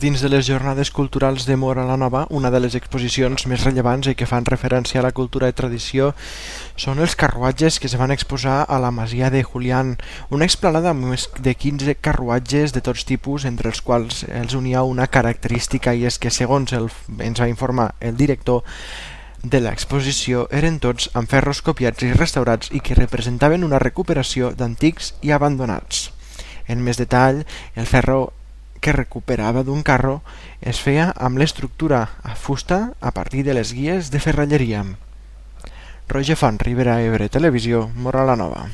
Dins de les Jornades Culturals de Móra la Nova, una de les exposicions més rellevants i que fan referència a la cultura i tradició són els carruatges que es van exposar a la Masia de Julián, una explanada amb més de 15 carruatges de tots tipus, entre els quals els unia una característica, i és que, segons ens va informar el director de l'exposició, eren tots amb ferros copiats i restaurats i que representaven una recuperació d'antics i abandonats. En més detall, el ferro que recuperava d'un carro es feia amb l'estructura a fusta a partir de les guies de ferralleria. Roger Font, Ribera Ebre Televisió, Móra la Nova.